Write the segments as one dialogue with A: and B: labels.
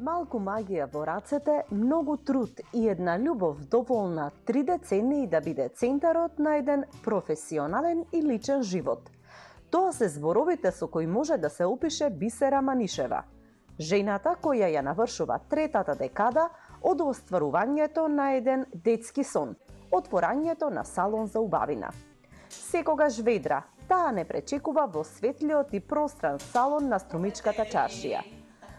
A: Малку магија во рацете, многу труд и една љубов доволна 3 децении да биде центарот на еден професионален и личен живот. Тоа се зборовите со кои може да се опише Бисера Манишева, жената која ја навршува третата декада од остварувањето на еден детски сон, отворањето на салон за убавина. Секогаш ведра, таа не пречекува во светлиот и простран салон на Струмичката чаршија.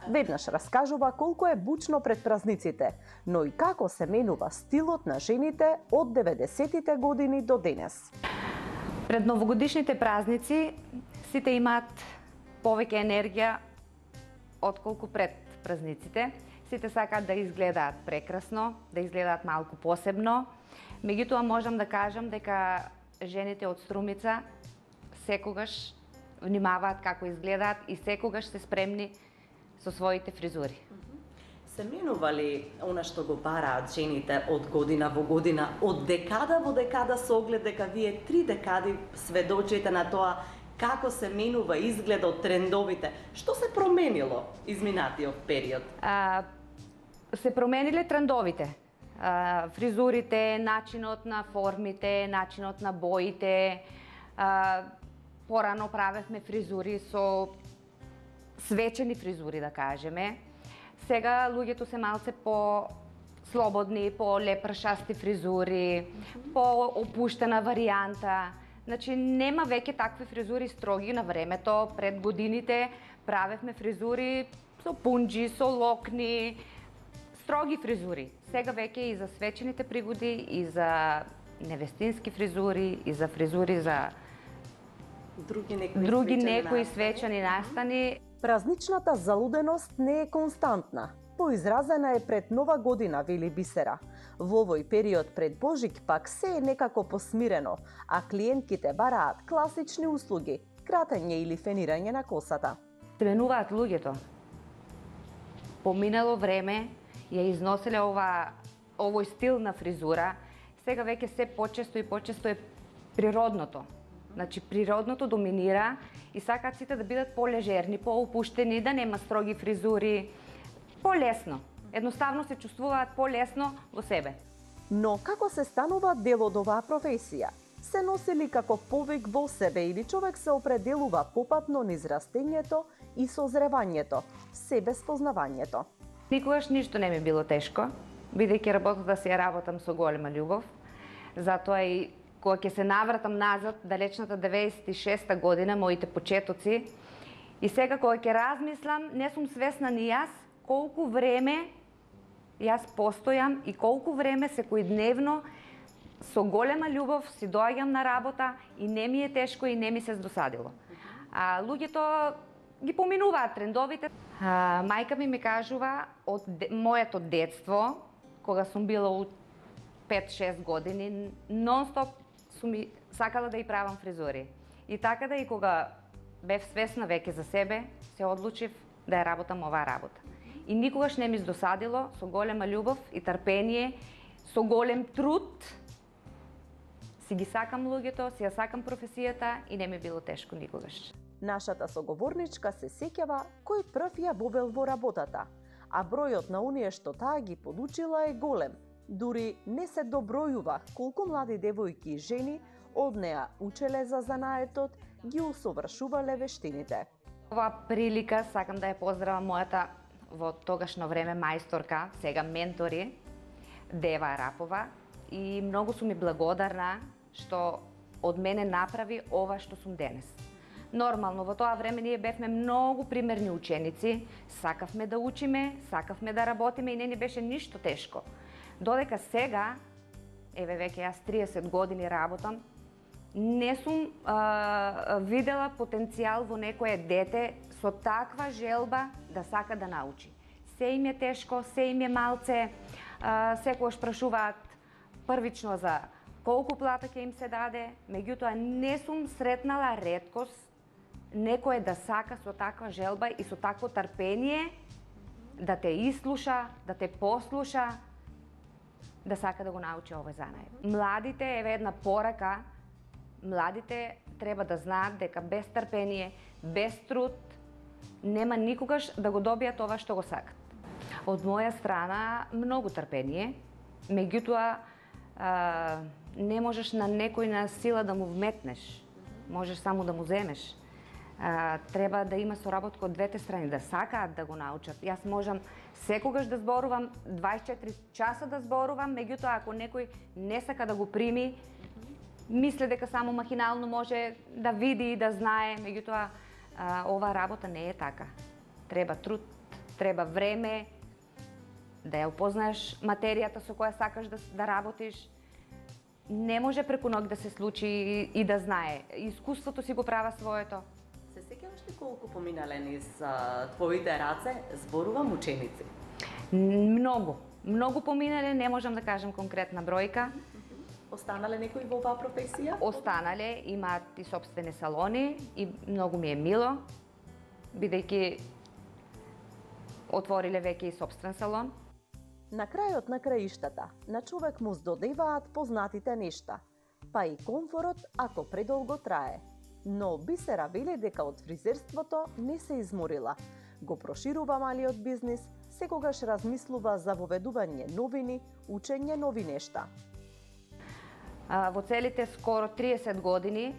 A: Веднаш раскажува колку е бучно пред празниците, но и како се менува стилот на жените од 90-тите години до денес.
B: Пред новогодишните празници сите имаат повеќе енергија отколку пред празниците. Сите сакаат да изгледаат прекрасно, да изгледаат малку посебно. Меѓутоа можам да кажам дека жените од Струмица секогаш внимаваат како изгледаат и секогаш се спремни со своите фризури.
A: Се менува ли она што го бараат жените од година во година, од декада во декада, со оглед дека вие 3 декади сведочите на тоа како се менува изгледот, трендовите? Што се променило изминатиот период?
B: Се промениле трендовите. Фризурите, начинот на формите, начинот на боите. Порано правевме фризури со свечени фризури, да кажеме. Сега луѓето се малце по-слободни, по-лепршасти фризури, по-опуштена варијанта. Значи, нема веќе такви фризури строги на времето. Пред годините правевме фризури со пунџи, со локни, строги фризури. Сега веќе и за свечените пригоди, и за невестински фризури, и за фризури за други некои свечени настани.
A: Празничната залуденост не е константна. Поизразена е пред Нова година, вели Бисера. Во овој период пред Божик пак се е некако посмирено, а клиентките бараат класични услуги, кратење или фенирање на косата.
B: Се менуваат луѓето. Поминало време ја износеле овој стил на фризура, сега веќе се почесто и почесто е природното. Значи, природното доминира и сакаат сите да бидат полежерни, поопуштени, да нема строги фризури, полесно. Едноставно се чувствуваат полесно во себе.
A: Но како се станува дел од оваа професија? Се носи ли како повик во себе или човек се определува попатно низ растењето и созревањето, себеспознавањето?
B: Никогаш ништо не ми било тешко, бидејќи работата си ја работам со голема љубов. Затоа и кога ќе се навратам назад, далечната 96-та година, моите почетоци, и сега кога ќе размислам, не сум свесна ни јас колку време јас постојам и колку време секојдневно со голема љубов си доаѓам на работа и не ми е тешко и не ми се здосадило. Луѓето ги поминуваат трендовите. Мајка ми кажува од моето детство, кога сум била 5-6 години, нон-стоп сум сакала да ја правам фризури. И така да и кога бев свесна веќе за себе, се одлучив да ја работам оваа работа. И никогаш не ми здосадило, со голема љубов и трпение, со голем труд, си ги сакам луѓето, си ја сакам професијата и не ми било тешко никогаш.
A: Нашата соговорничка се сеќава кој прв ја вовел во работата, а бројот на оние што таа ги подучила е голем. Дури не се добројува колку млади девојки и жени од неа учеле за занаетот, ги усовршувале вештините.
B: Оваа прилика сакам да ја поздравам мојата во тогашно време мајсторка, сега ментори, Дева Арапова, и многу сум ми благодарна што од мене направи ова што сум денес. Нормално, во тоа време ние бевме многу примерни ученици, сакавме да учиме, сакавме да работиме и не ни беше ништо тешко. Додека сега, еве веќе јас 30 години работам, не сум видела потенцијал во некое дете со таква желба да сака да научи. Се им е тешко, се им е малце, секогаш прашуваат првично за колку плата ќе им се даде, меѓутоа не сум сретнала реткост некој да сака со таква желба и со такво трпение да те ислуша, да те послуша, да сака да го научи овој занает. Младите, еве една порака, младите треба да знаат дека без трпение, без труд, нема никогаш да го добијат ова што го сакат. Од моја страна многу трпение, меѓутоа не можеш на некој на сила да му вметнеш, можеш само да му земеш. Треба да има соработка од двете страни, да сакаат да го научат. Јас можам секогаш да зборувам, 24 часа да зборувам, меѓутоа ако некој не сака да го прими, мисли дека само махинално може да види и да знае, меѓутоа оваа работа не е така. Треба труд, треба време, да ја опознаеш материјата со која сакаш да работиш. Не може преку ноќ да се случи и да знае. Искуството си го права своето.
A: Се сеќаваш ли колку поминале низ твоите раце зборувам ученици?
B: Многу поминале, не можам да кажам конкретна бројка.
A: Останале некои во оваа професија?
B: Останале, имаат и сопствени салони и многу ми е мило, бидејќи отвориле веќе и сопствен салон.
A: На крајот на краиштата, на човек му здодеваат познатите нешта, па и комфорот ако предолго трае. Но Бисера вели дека од фризерството не се изморила. Го проширува малиот бизнис, секогаш размислува за воведување новини, учење нови нешта.
B: Во целите скоро 30 години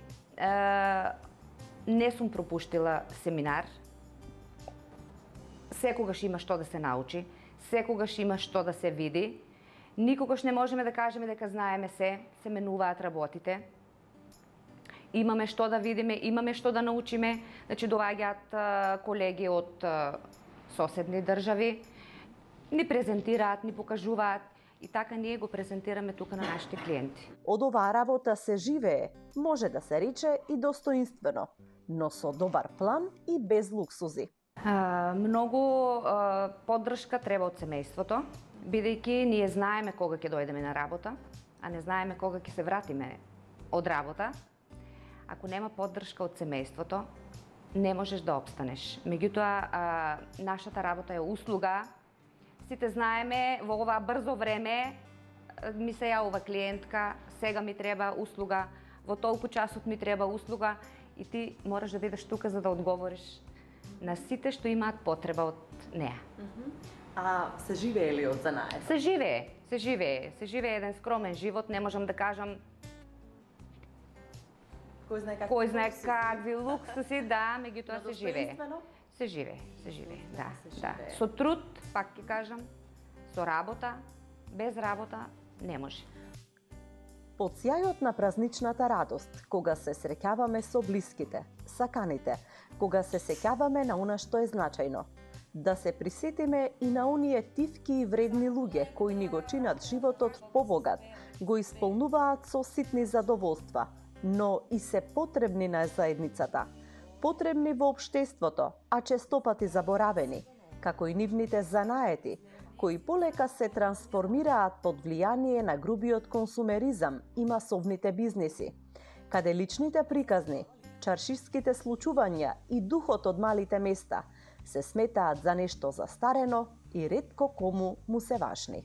B: не сум пропуштила семинар. Секогаш има што да се научи, секогаш има што да се види. Никогаш не можеме да кажеме дека знаеме се менуваат работите. Имаме што да видиме, имаме што да научиме. Значи доаѓаат колеги од соседни држави, ни презентираат, ни покажуваат и така ние го презентираме тука на нашите клиенти.
A: Од оваа работа се живее, може да се рече и достоинствено, но со добар план и без луксузи.
B: Многу поддршка треба од семејството, бидејќи ние знаеме кога ќе дојдеме на работа, а не знаеме кога ќе се вратиме од работа. Ако нема поддршка од семејството, не можеш да опстанеш. Меѓутоа, нашата работа е услуга. Сите знаеме, во ова брзо време ми се јавува клиентка, сега ми треба услуга, во толку часот ми треба услуга и ти мораш да бидеш тука за да одговориш на сите што имаат потреба од неа.
A: А се живее ли од занаед?
B: Се живее еден скромен живот, не можам да кажам кој знае какви луксуси, да, меѓутоа се живее. Се живее, да. Со труд, пак ќе кажам, со работа, без работа не може.
A: Под сјајот на празничната радост, кога се среќаваме со блиските, саканите, кога се сеќаваме на она што е значајно, да се присетиме и на оние тивки и вредни луѓе кои ни го чинат животот побогат, го исполнуваат со ситни задоволства, но и се потребни на заедницата, потребни во општеството, а честопати заборавени, како и нивните занаети, кои полека се трансформираат под влијание на грубиот консумеризам и масовните бизниси, каде личните приказни, чаршиските случувања и духот од малите места се сметаат за нешто застарено и ретко кому му се важни.